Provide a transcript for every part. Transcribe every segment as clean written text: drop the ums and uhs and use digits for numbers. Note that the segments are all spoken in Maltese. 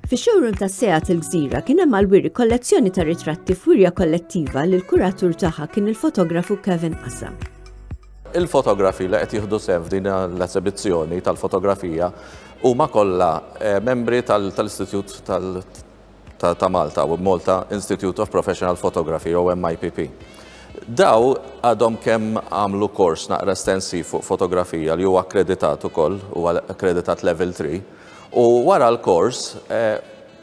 Fix-showroom ta' Seat il-Gżira kien hemm għall-wiri kollezzjoni ta' ritratti f'wirja kollettiva li l-kuratur tagħha kien il-fotografu Kevin Qasa. Il-fotografi li qed jieħdu sehem f'din l-esebizzjoni tal-fotografija huma kollha eh, membri tal-Istitut ta' Malta, Malta Institute of Professional Photography, jew MIPP. Daw għadhom kemm għamlu kors naqra estensiv fuq fotografija li huwa akkreditat ukoll, huwa akkreditat level 3, u wara l-kors eh,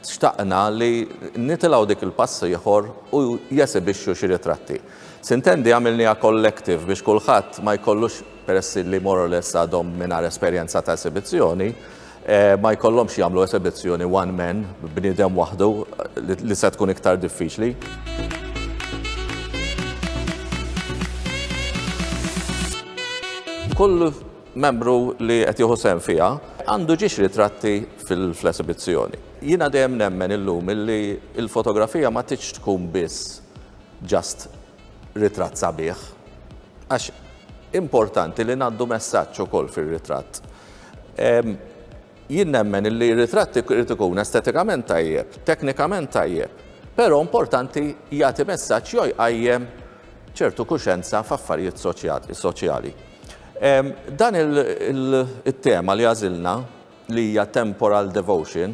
xtaqna li nitilgħu dik il-pass ieħor u jesibixxu xi ritratti. Sintendi għamilniha collective biex kulħadd ma jkollux peress li more or less għadhom mingħajr esperjenza ta' esibizzjoni, Eh, ma jkollhomx jagħmlu esibizzjoni one man, bniedem waħdu li se tkun iktar diffiċli. Kull membru li qed jieħu sehem fiha għandu ġiex ritratti fil-esibizzjoni. Jiena dejjem nemmen illum illi il-fotografija ma tridx tkun biss just ritratt sabiħ. Għax importanti li ngħaddu messaġġ ukoll fir-ritratt. Jien nemmen li r-ritratt irid ikun estetikament tajjeb, teknikament tajjeb, però importanti jagħti messaġġ jew jqajjem ċertu kuxenza f'affarijiet soċjali. Dan il-tema li għażilna li hija temporal devotion,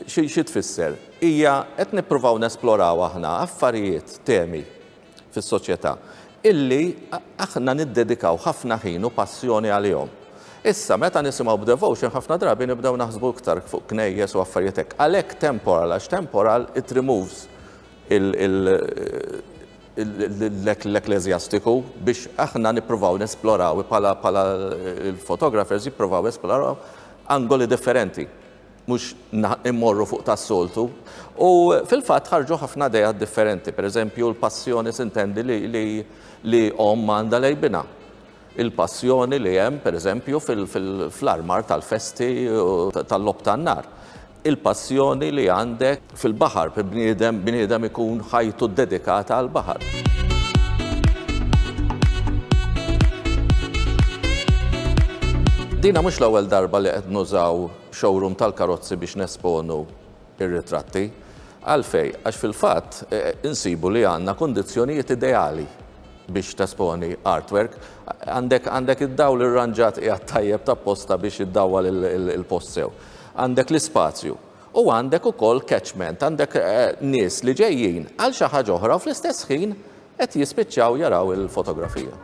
xi tfisser? Hija qed nippruvaw nesploraw aħna affarijiet, temi fis-soċjetà illi aħna niddedikaw ħafna ħin u passjoni għalihom. Issa, meta nisimgħu b'devotion ħafna drabi nibdew naħsbu iktar fuq knejjes u affarijiet hekk. Għalhekk temporal, għax temporal it removes l-ekkleżjastiku biex aħna nippruvaw nesploraw bħala il-photographers jippruvaw jesploraw angoli differenti mhux immorru fuq tas-soltu. U fil-fatt ħarġu ħafna ideat differenti, per eżempju l-passjoni sintendi li, li, li omm għandha lejn binha. Il-passjoni li hemm, per eżempju, fl-armar tal-festi tal-logħob tan-nar. Il-passjoni li għandek fil-baħar, bniedem bniedem ikun ħajtu dedikata għall-baħar. Dina mhux l-ewwel darba li qed nużaw showroom tal-karozzi biex nesponu ir-ritratti. Għalfej, għax fil-fatt eh, insibu li għandna kundizzjonijiet ideali biex tesponi artwork. Għandek għandek id-dawl irranġat qiegħed tajjeb ta' posta biex iddawwal il-post sew. Għandek l-ispazju. U għandek ukoll catchment, għandek eh, nies li ġejjin għal xi ħaġa oħra u fl-istess ħin qed jispiċċaw jaraw il-fotografija.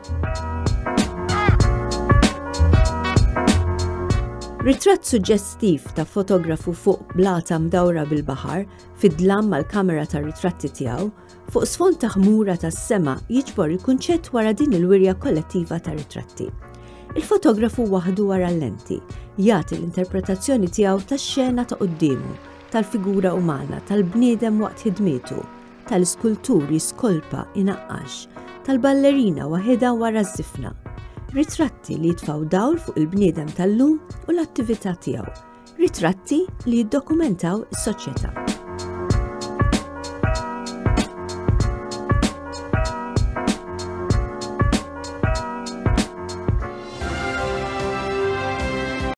Ritratt suġġestiv ta' fotografu fuq blata mdawra bil-baħar fid-dlam mal-kamera tar-ritratti tiegħu fuq sfond ta' ħmura tas-sema jiġbor il-kunċett wara din il-wirja kollettiva ta' ritratti. Il-fotografu waħdu wara l-lenti jagħti l-interpretazzjoni tiegħu tax-xena ta' quddiemu, tal-figura umana, tal-bniedem waqt ħidmietu, tal-iskultur jiskolpa inaqqax, tal-ballerina waħedha wara ż-żifna. Ritratti li jitfgħu dawl fuq il-bniedem tal-lum u l-attività tiegħu. Ritratti li jiddokumentaw is-soċjetà.